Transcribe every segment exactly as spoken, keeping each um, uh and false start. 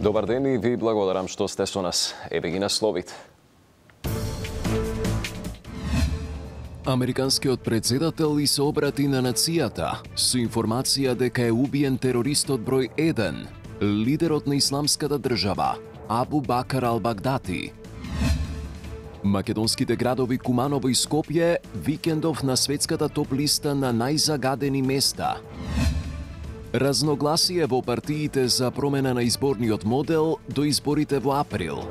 Добар ден и ви благодарам што сте со нас. Еве ги насловите. Американскиот председател и се обрати на нацијата со информација дека е убиен терористот број еден, лидерот на исламската држава, Абу Бакар ал-Багдати. Македонските градови Куманово и Скопје викендов на светската топ листа на најзагадени места. Разногласие во партиите за промена на изборниот модел до изборите во април.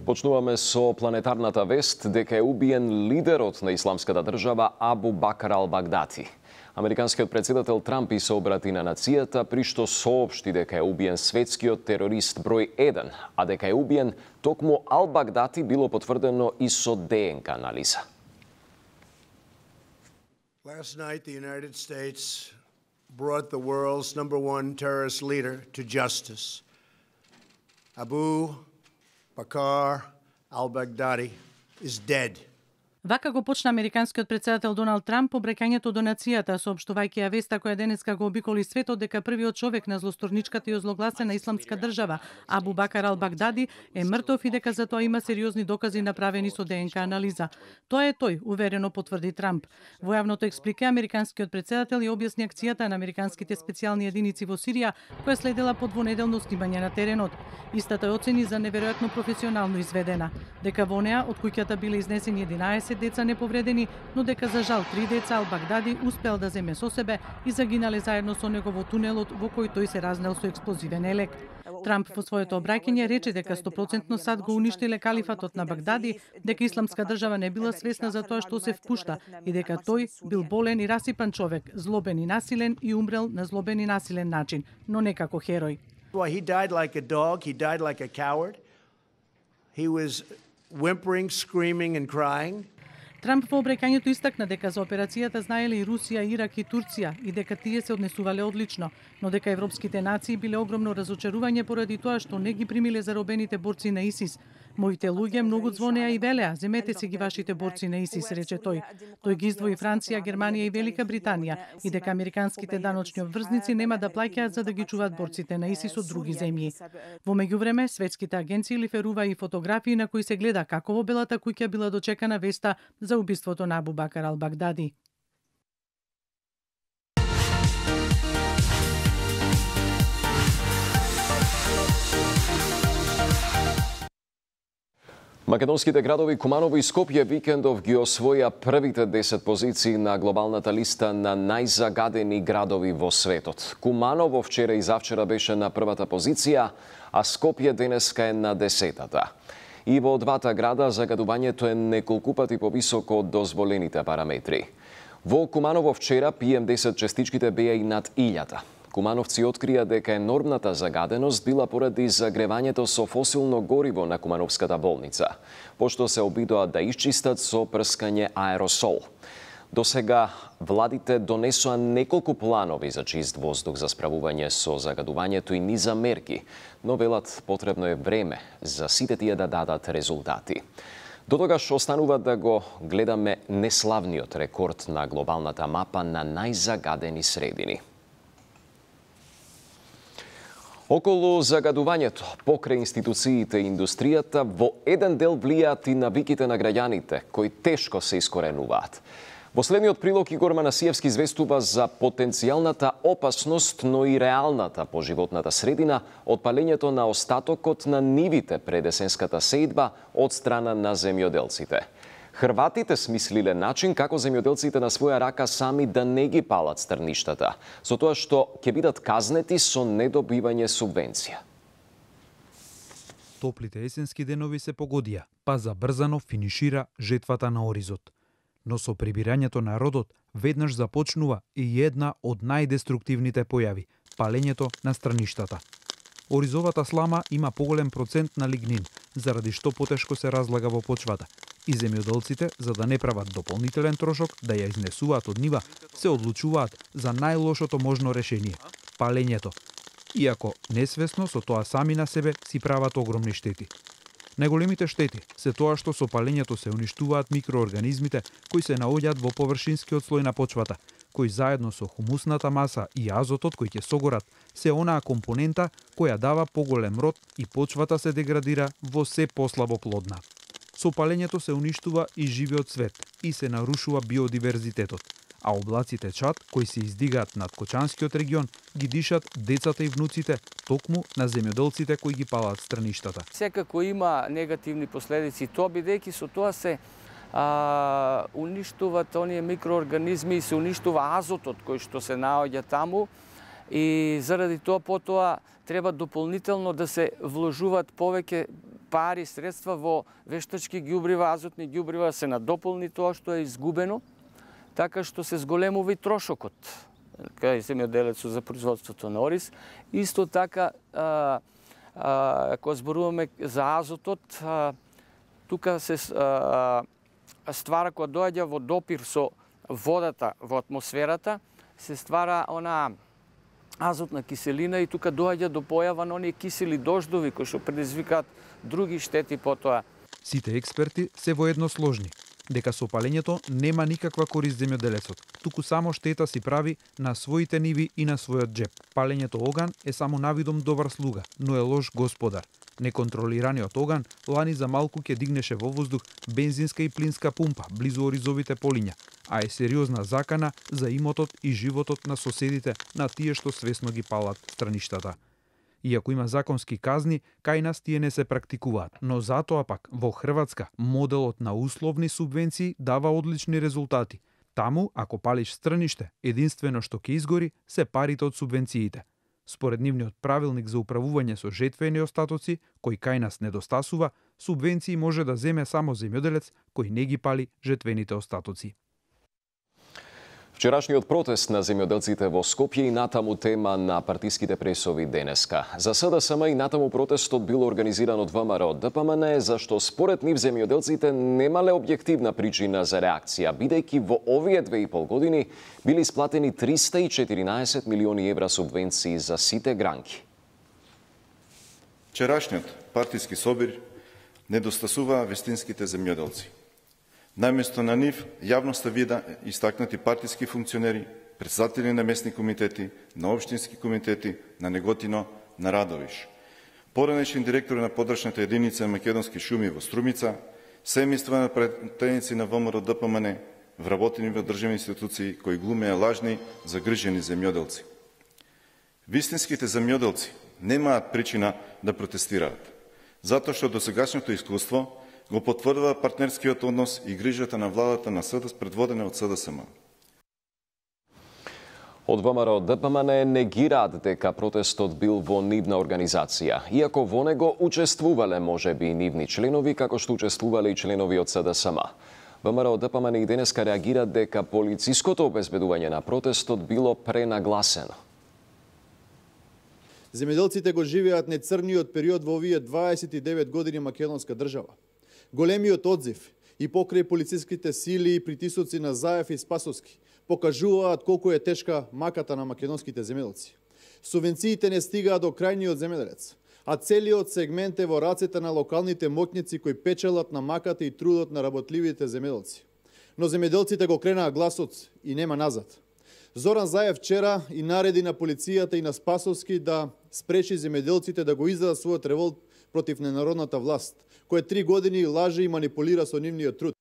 Почнуваме со планетарната вест дека е убиен лидерот на исламската држава Абу Бакар ал-Багдати. Американскиот председател Трамп и се обрати на нацијата при што соопшти дека е убиен светскиот терорист број еден, а дека е убиен токму ал-Багдати било потврдено и со ДНК анализа. Last night, the United States brought the world's number one terrorist leader to justice. Abu Bakar al-Baghdadi is dead. Вака го почна американскиот председател Доналд Трамп обраќањето до нацијата, соопштувајќи ја веста која денеска го обиколи светот дека првиот човек на злосторничката и озлогласена исламска држава, Абу Бакар ал-Багдати, е мртов и дека за тоа има сериозни докази направени со ДНК анализа. Тоа е тој, уверено потврди Трамп. Во јавното експлике американскиот председател ја објасни акцијата на американските специјални единици во Сирија, која следела по двонеделно снимање на теренот. Истата ја оцени за неверојатно професионално изведена, дека во неа од куќата биле изнесени единаесет деца неповредени, но дека за жал три деца ал-Багдади успеал да земе со себе и загинале заедно со него во тунелот во кој тој се разнел со експлозивен елек. Трамп во своето обраќање рече дека сто проценти САД го уништиле калифатот на Багдади, дека исламска држава не била свесна за тоа што се впушта и дека тој бил болен и расипан човек, злобен и насилен и умрел на злобен и насилен начин, но не како херој. Well, he died like a dog, he died like a coward. He was whimpering, screaming and crying. Трамп во обраќањето истакна дека за операцијата знаеле и Русија, Ирак и Турција и дека тие се однесувале одлично, но дека европските нации биле огромно разочарување поради тоа што не ги примиле заробените борци на ИСИС. Моите луѓе многу звонеа и велеа, земете си ги вашите борци на ИСИС, рече тој. Тој ги издвои Франција, Германија и Велика Британија и дека американските даночни обврзници нема да плаќаат за да ги чуваат борците на ИСИС од други земји. Во меѓувреме, светските агенции лиферува и фотографии на кои се гледа како во Белата куќа била дочекана веста за убиството на Абу Бакар ал-Багдати. Македонските градови Куманово и Скопје викендов ги освоја првите десет позиции на глобалната листа на најзагадени градови во светот. Куманово вчера и завчера беше на првата позиција, а Скопје денеска е на десетата. И во двата града загадувањето е неколку пати повисоко од дозволените параметри. Во Куманово вчера пи ем десет частичките беа и над илјада. Кумановци открија дека енормната загаденост била поради загревањето со фосилно гориво на Кумановската болница, пошто се обидоа да исчистат со прскање аеросол. До сега владите донесоа неколку планови за чист воздух за справување со загадувањето и низа мерки, но велат потребно е време за сите тие да дадат резултати. До тогаш останува да го гледаме неславниот рекорд на глобалната мапа на најзагадени средини. Околу загадувањето, покрај институциите и индустријата, во еден дел влијаат и навиките на граѓаните, кои тешко се искоренуваат. Во следниот прилог Игор Манасиевски известува за потенцијалната опасност, но и реалната по животната средина од палењето на остатокот на нивите пред есенската сеидба од страна на земјоделците. Хрватите смислиле начин како земјоделците на своја рака сами да не ги палат стрништата, со тоа што ќе бидат казнети со недобивање субвенција. Топлите есенски денови се погодија, па забрзано финишира жетвата на оризот. Но со прибирањето на родот веднаш започнува и една од најдеструктивните појави – палењето на страништата. Оризовата слама има поголем процент на лигнин, заради што потешко се разлага во почвата. И земјоделците, за да не прават дополнителен трошок да ја изнесуваат од нива, се одлучуваат за најлошото можно решение – палењето. Иако несвесно со тоа сами на себе си прават огромни штети. Најголемите штети се тоа што со палењето се уништуваат микроорганизмите кои се наоѓаат во површинскиот слој на почвата, кои заедно со хумусната маса и азотот кој ќе согорат се онаа компонента која дава поголем род и почвата се деградира во се послабо плодна. Со палењето се уништува и живиот свет и се нарушува биодиверзитетот, а облаците чад кои се издигаат над Кочанскиот регион ги дишат децата и внуците токму на земјоделците кои ги палат страништата. Секако има негативни последици тоа, бидејќи со тоа се а, уништуваат оние микроорганизми и се уништува азотот кој што се наоѓа таму и заради тоа потоа треба дополнително да се вложуваат повеќе пари, средства во вештачки ѓубрива, азотни ѓубрива, се надополни тоа што е изгубено, така што се зголемува и трошокот кај земјоделецот за производството на ориз. Исто така, а, а, ако зборуваме за азотот, а, тука се а, ствара, кога доаѓа во допир со водата во атмосферата, се ствара она азотна киселина и тука доаѓа до појава на оние кисели дождови кои што предизвикаат други штети потоа. Сите експерти се воедносложни дека со палењето нема никаква корист земјоделецот, туку само штета си прави на своите ниви и на својот джеп. Палењето оган е само навидом добар слуга, но е лош господар. Неконтролираниот оган лани за малку ќе дигнеше во воздух бензинска и плинска пумпа близу оризовите полиња, а е сериозна закана за имотот и животот на соседите на тие што свесно ги палат страништата. Иако има законски казни, кај нас тие не се практикуваат, но затоа пак во Хрватска моделот на условни субвенции дава одлични резултати. Таму, ако палиш страниште, единствено што ќе изгори се парите од субвенциите. Според нивниот правилник за управување со жетвени остатоци, кој кај нас недостасува, субвенции може да земе само земјоделец кој не ги пали жетвените остатоци. Вчерашниот протест на земјоделците во Скопје и натаму тема на партиските пресови денеска. За СДСМ и натаму протестот бил организиран од ВМРО ДПМН, зашто според нив земјоделците немале објективна причина за реакција, бидејќи во овие две и пол години били исплатени триста и четиринаесет милиони евра субвенции за сите гранки. Вчерашниот партиски собир недостасува вестинските земјоделци. Наместо на нив, јавноста вида истакнати партиски функционери, председатели на местни комитети, на општински комитети, на Неготино, на Радовиш. Поранешен директор на подрачната единица Македонски шуми во Струмица, семејства на пратеници на ВМРО ДПМН, вработени во државни институции кои глумеа лажни, загрижени земјоделци. Вистинските земјоделци немаат причина да протестираат, затоа што досегашното искуство го потврдува партнерскиот однос и грижата на владата на СДС предводена од СДСМ. Од ВМРО ДПМН негираат дека протестот бил во нивна организација, иако во него учествувале можеби и нивни членови, како што учествувале и членови од СДСМ. ВМРО ДПМН и денеска реагираат дека полициското обезбедување на протестот било пренагласено. Земјоделците го живеат нецрниот период во овие дваесет и девет години македонска држава. Големиот одзив и покрај полициските сили и притисоци на Заев и Спасовски покажуваат колку е тешка маката на македонските земјоделци. Субвенциите не стигаат до крајниот земјоделец, а целиот сегмент е во рацете на локалните моќници кои печелат на маката и трудот на работливите земјоделци. Но земјоделците го кренаа гласот и нема назад. Зоран Заев вчера и нареди на полицијата и на Спасовски да спречи земјоделците да го издадат својот револт против ненародната власт, која три години лаже и манипулира со нивниот труд.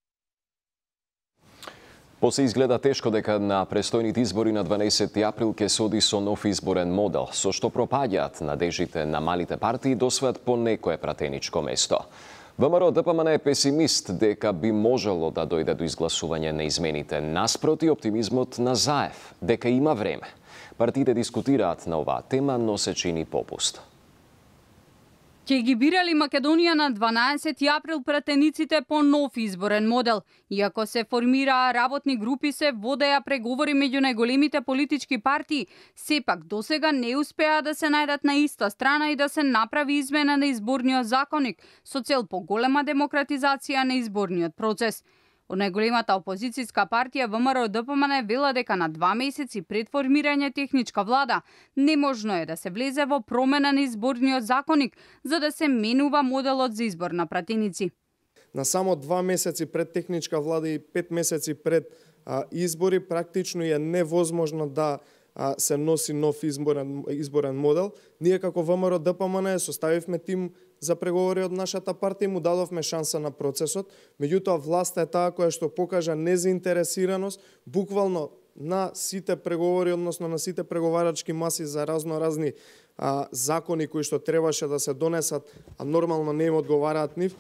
После изгледа тешко дека на престојните избори на дванаесети април ќе се оди со нов изборен модел, со што пропаѓаат надежите на малите партии да освојат по некое пратеничко место. ВМРО ДПМН е песимист дека би можело да дојде до изгласување на измените, наспроти оптимизмот на Заев, дека има време. Партиите дискутираат на оваа тема, но се чини попуст. Ќе ги бирали Македонија на дванаесети април пратениците по нов изборен модел. Иако се формираа работни групи, се водеа преговори меѓу најголемите политички партии, сепак досега не успеа да се најдат на иста страна и да се направи измена на изборниот законник со цел поголема демократизација на изборниот процес. Од најголемата опозицијска партија ВМРО ДПМН вела дека на два месеци пред формирање техничка влада неможно е да се влезе во промена на изборниот законник за да се менува моделот за избор на пратеници. На само два месеци пред техничка влада и пет месеци пред избори, практично е невозможно да се носи нов изборен, изборен модел. Ние како ВМРО Д П М Н составивме тим за преговори од нашата партија и му дадовме шанса на процесот. Меѓутоа, власта е таа која што покажа незаинтересираност, буквално на сите преговори, односно на сите преговарачки маси за разно разни а, закони кои што требаше да се донесат, а нормално не им одговараат нив.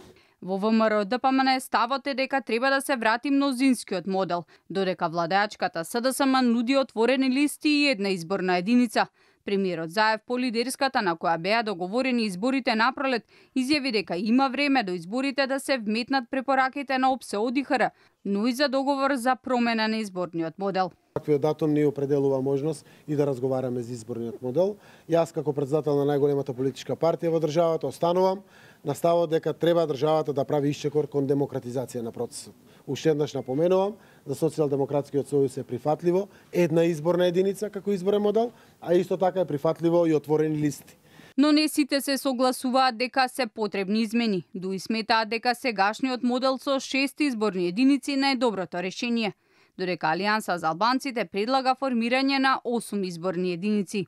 Во ВМРО Д П М Н ставот е дека треба да се врати мнозинскиот модел, додека владеачката С Д С М нуди отворени листи и една изборна единица. Премиерот Заев по лидерската на која беа договорени изборите напролет изјави дека има време до изборите да се вметнат препораките на О П С Е О Д И Х Р, но и за договор за промена на изборниот модел. Таквиот датум ни определува можност и да разговараме за изборниот модел. Јас како председател на најголемата политичка партија во државата останувам на ставот дека треба државата да прави исчекор кон демократизација на процесот. Уште еднаш напоменувам, за Социјалдемократскиот сојуз е прифатливо една изборна единица како изборен модел, а исто така е прифатливо и отворени листи. Но не сите се согласуваат дека се потребни измени. Дуи сметаат дека сегашниот модел со шест изборни единици не е доброто решение, додека Алијанса за албанците предлага формирање на осум изборни единици.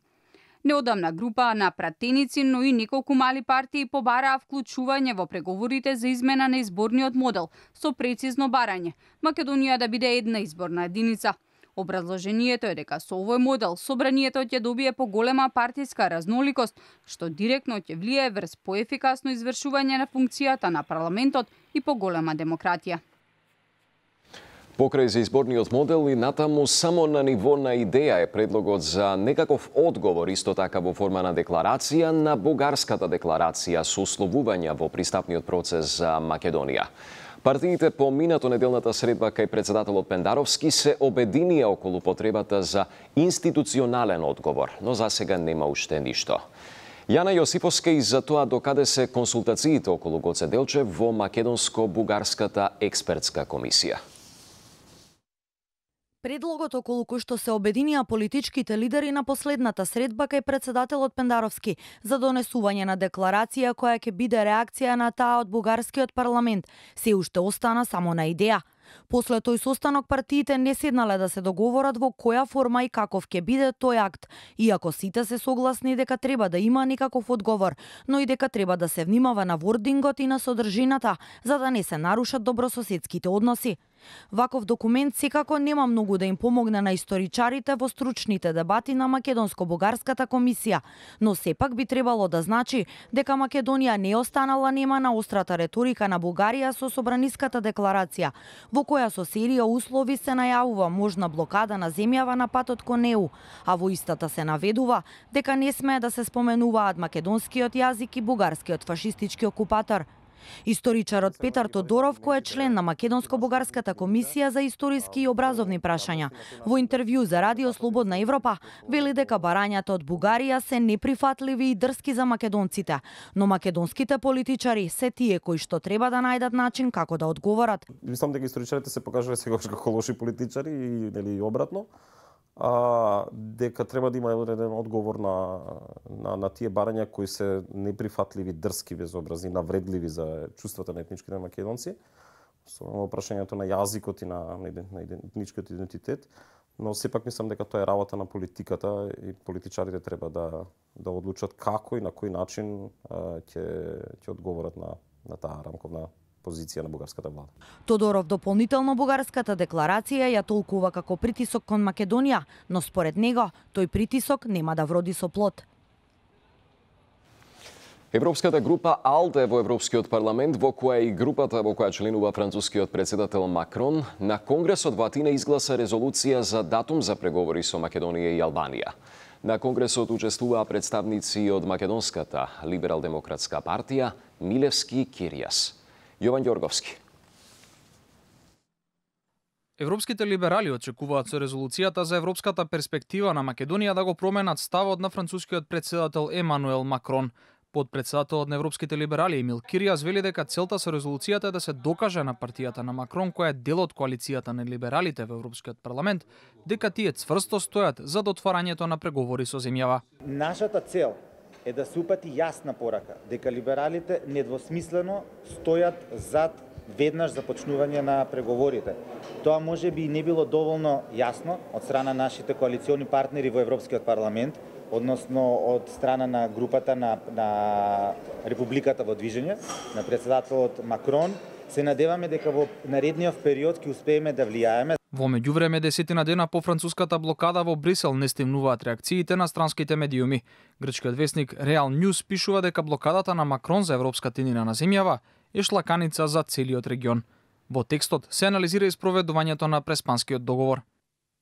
Неодамна група на пратеници, но и неколку мали партии побараа вклучување во преговорите за измена на изборниот модел со прецизно барање Македонија да биде една изборна единица. Образложението е дека со овој модел собранието ќе добие поголема партиска разноликост, што директно ќе влијае врз поефикасно извршување на функцијата на парламентот и поголема демократија. Покрај за изборниот модел и натаму само на ниво на идеја е предлогот за некаков одговор, исто така во форма на декларација на бугарската декларација со условувања во пристапниот процес за Македонија. Партиите по минато неделната средба кај председателот Пендаровски се обединија околу потребата за институционален одговор, но за сега нема уште ништо. Јана Јосиповска и за тоа докаде се консултациите околу Гоце Делчев во Македонско-бугарската експертска комисија. Предлогот околу кој што се обединија политичките лидери на последната средба кај председателот Пендаровски за донесување на декларација која ќе биде реакција на таа од бугарскиот парламент се уште остана само на идеја. После тој состанок партиите не седнале да се договорат во која форма и каков ќе биде тој акт, иако сите се согласни дека треба да има некаков одговор, но и дека треба да се внимава на вордингот и на содржината, за да не се нарушат добрососедските односи. Ваков документ секако нема многу да им помогне на историчарите во стручните дебати на Македонско-бугарската комисија, но сепак би требало да значи дека Македонија не останала нема на острата реторика на Бугарија со собраниската декларација, во која со серија услови се најавува можна блокада на земјава на патот кон Е У, а во истата се наведува дека не смее да се споменуваат македонскиот јазик и бугарскиот фашистички окупатор. Историчарот Петар Тодоров, кој е член на Македонско-бугарската комисија за историски и образовни прашања, во интервју за Радио Слободна Европа вели дека барањата од Бугарија се неприфатливи и дрски за македонците, но македонските политичари се тие кои што треба да најдат начин како да одговорат. Мислам дека историчарите се покажале сегаш како лоши политичари и нели обратно. А, дека треба да има еден одговор на, на, на тие барања кои се неприфатливи, дрски, безобразни, навредливи за чувствата на етничките македонци, со прашањето на јазикот и на, на, на етничкиот идентитет, но сепак мислам дека тоа е работа на политиката и политичарите треба да, да одлучат како и на кој начин ќе ќе одговорат на, на таа рамковна позиција на бугарската влада. Тодоров дополнително бугарската декларација ја толкува како притисок кон Македонија, но според него тој притисок нема да вроди со плод. Европската група АЛДЕ во Европскиот парламент, во која и групата во која членува францускиот председател Макрон, на Конгресот во Атина изгласа резолуција за датум за преговори со Македонија и Албанија. На Конгресот учествуваа представници од Македонската либерал-демократска партија Милевски и Киријас. Јован Ѓорговски. Европските либерали очекуваат со резолуцијата за европската перспектива на Македонија да го променат ставот на францускиот председател Емануел Макрон. Подпредседателот на Европските либерали Емил Киријас вели дека целта со резолуцијата е да се докаже на партијата на Макрон, која е дел од коалицијата на либералите во Европскиот парламент, дека тие цврсто стојат за отварањето на преговори со земјава. Нашата цел е да се упати јасна порака дека либералите недвосмислено стојат зад веднаш започнување на преговорите. Тоа може би не било доволно јасно од страна нашите коалициони партнери во Европскиот парламент, односно од страна на групата на, на Републиката во движење, на председателот Макрон. Се надеваме дека во наредниот период ќе успееме да влијаеме. Во меѓувреме, десетина дена по француската блокада во Брисел не стимнуваат реакциите на странските медиуми. Грчкиот весник Real News пишува дека блокадата на Макрон за европска тенина на земјава е шлаканица за целиот регион. Во текстот се анализира испроведувањето на Преспанскиот договор.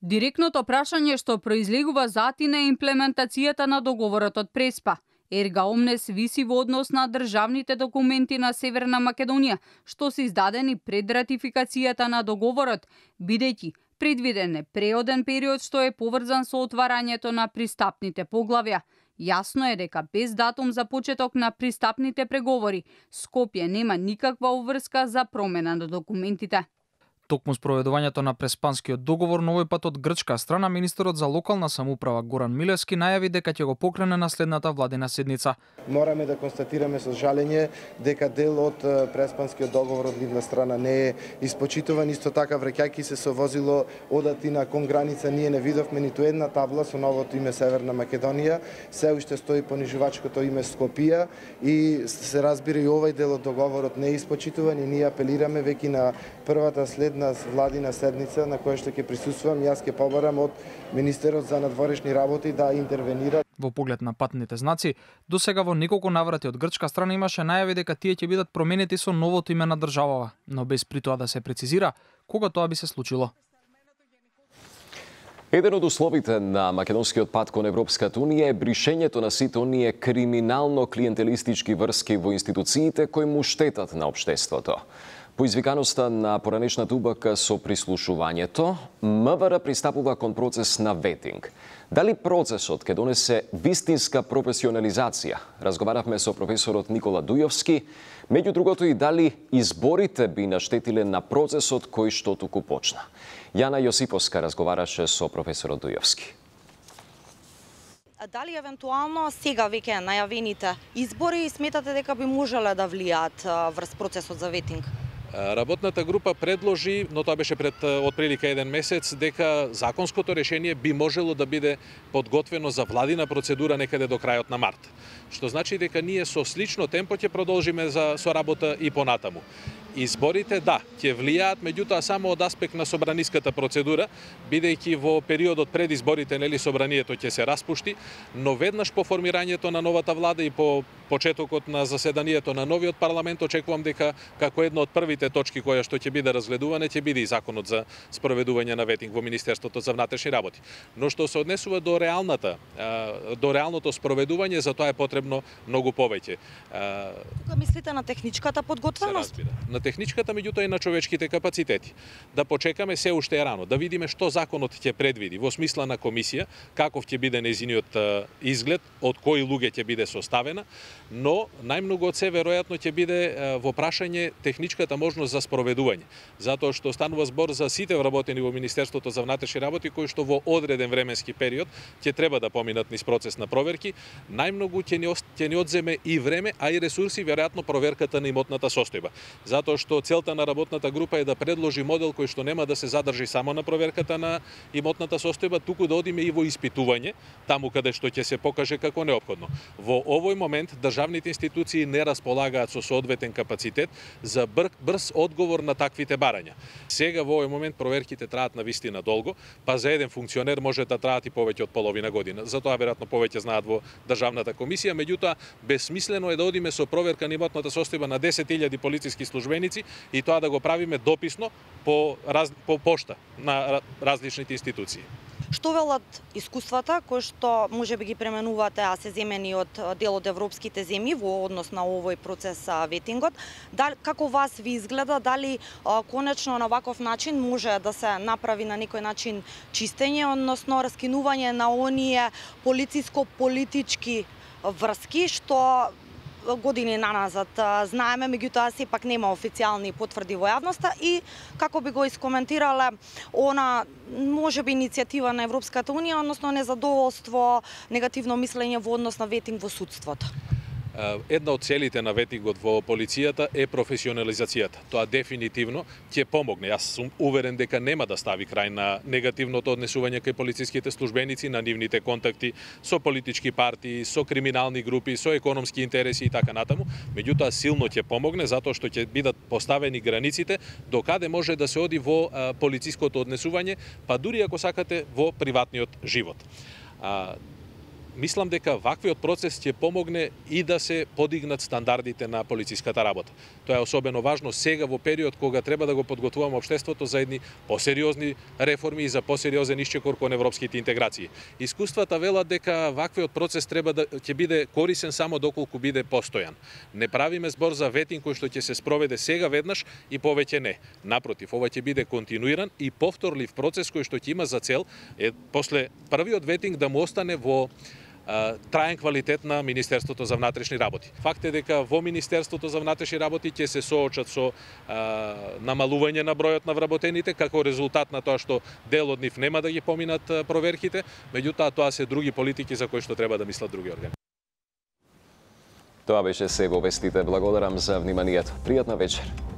Директното прашање што произлегува затина е имплементацијата на договорот од Преспа. Ерга омнес виси во однос на државните документи на Северна Македонија, што се издадени пред ратификацијата на договорот, бидејќи предвиден е преоден период што е поврзан со отварањето на пристапните поглавја. Јасно е дека без датум за почеток на пристапните преговори, Скопје нема никаква обврска за промена на документите. Токму спроведувањето на Преспанскиот договор, на овој пат од грчка страна, министерот за локална самоуправа Горан Милевски најави дека ќе го покрене на следната владина седница. Мораме да констатираме со жалење дека дел од Преспанскиот договор од нивна страна не е испочитуван. Исто така, враќајќи се со возило одатина кон граница, ние не видовме ниту една табла со новото име Северна Македонија. Се уште стои понижувачкото име Скопје и се разбира и овој дел од договорот не е испочитуван и ние апелираме веќе на првата следна владина седница на која што ќе присуствувам, јас ќе побарам од министерот за надворешни работи да интервенира. Во поглед на патните знаци, до сега во неколку наврати од грчка страна имаше најави дека тие ќе бидат променети со новото име на државава, но без при тоа да се прецизира кога тоа би се случило. Еден од условите на македонскиот пат кон Европската унија е бришењето на сите оние криминално-клиентелистички врски во институциите кои му штетат на општеството. По извиканоста на поранешната УБК со прислушувањето, МВР пристапува кон процес на ветинг. Дали процесот ќе донесе вистинска професионализација? Разговаравме со професорот Никола Дујовски, меѓу другото и дали изборите би наштетиле на процесот кој што туку почна. Јана Јосиповска разговараше со професорот Дујовски. Дали евентуално сега веќе најавените избори сметате дека би можеле да влијаат врз процесот за ветинг? Работната група предложи, но тоа беше пред отприлика еден месец, дека законското решение би можело да биде подготвено за владина процедура некаде до крајот на март. Што значи дека ние со слично темпо ќе продолжиме за со работа и понатаму. Изборите, да, ќе влијаат, меѓутоа само од аспект на собраниската процедура, бидејќи во периодот пред изборите, нели, собранието ќе се распушти, но веднаш по формирањето на новата влада и по почетокот на заседанието на новиот парламент очекувам дека како една од првите точки која што ќе биде разгледувана ќе биде и законот за спроведување на ветинг во Министерството за внатрешни работи. Но што се однесува до реалната, до реалното спроведување, за тоа е потребно многу повеќе. Тука мислите на техничката подготвеност? На техничката, меѓутоа и на човечките капацитети. Да почекаме, се уште е рано, да видиме што законот ќе предвиди во смисла на комисија, каков ќе биде нејзиниот изглед, од кои луѓе ќе биде составена, но најмногу од се веројатно ќе биде во прашање техничката можност за спроведување, затоа што станува збор за сите вработени во Министерството за внатрешни работи кои што во одреден временски период ќе треба да поминат низ процес на проверки. Најмногу ќе ни ќе ни одземе и време, а и ресурси, веројатно проверката на имотната состојба. Затоа што целта на работната група е да предложи модел кој што нема да се задржи само на проверката на имотната состојба, туку да одиме и во испитување, таму каде што ќе се покаже како неопходно. Во овој момент државните институции не располагаат со соодветен капацитет за бр брз одговор на таквите барања. Сега во овој момент проверките траат на вистина долго, па за еден функционер може да траат и повеќе од половина година. Затоа веројатно повеќе знаат во државната комисија, меѓутоа бесмислено е да одиме со проверка на имотната состојба на десет илјади полициски службеници и тоа да го правиме дописно по, раз, по пошта на различните институции. Што велат искуствата кои што може би ги пременувате, а се земени од дел од европските земји во однос на овој процес ветингот? Дали, како вас ви изгледа, дали а, конечно на ваков начин може да се направи на некој начин чистење, односно раскинување на оние полициско-политички врски што години наназад знаеме, меѓутоа сепак нема официјални потврди во јавноста, и како би го искоментирале она можеби иницијатива на Европската унија, односно незадоволство, негативно мислење во однос на ветинг во судството? една од целите на ветингот во полицијата е професионализацијата. Тоа дефинитивно ќе помогне. Јас сум уверен дека нема да стави крај на негативното однесување кај полициските службеници, на нивните контакти со политички партии, со криминални групи, со економски интереси и така натаму. Меѓутоа силно ќе помогне затоа што ќе бидат поставени границите до каде може да се оди во а, полициското однесување, па дури ако сакате во приватниот живот. А, Мислам дека ваквиот процес ќе помогне и да се подигнат стандардите на полициската работа. Тоа е особено важно сега во период кога треба да го подготвуваме општеството за едни посериозни реформи и за посериозен исчекор кон европските интеграции. Искуствата велат дека ваквиот процес треба да ќе биде корисен само доколку биде постојан. Не правиме збор за ветинг кој што ќе се спроведе сега веднаш и повеќе не. Напротив, ова ќе биде континуиран и повторлив процес кој што ќе има за цел е после првиот ветинг да му остане во траен квалитет на Министерството за внатрешни работи. Факт е дека во Министерството за внатрешни работи ќе се соочат со а, намалување на бројот на вработените како резултат на тоа што дел од нив нема да ги поминат проверките, меѓутоа тоа се други политики за кои што треба да мислат други органи. Тоа беше се во вестите. Благодарам за вниманието. Пријатна вечер.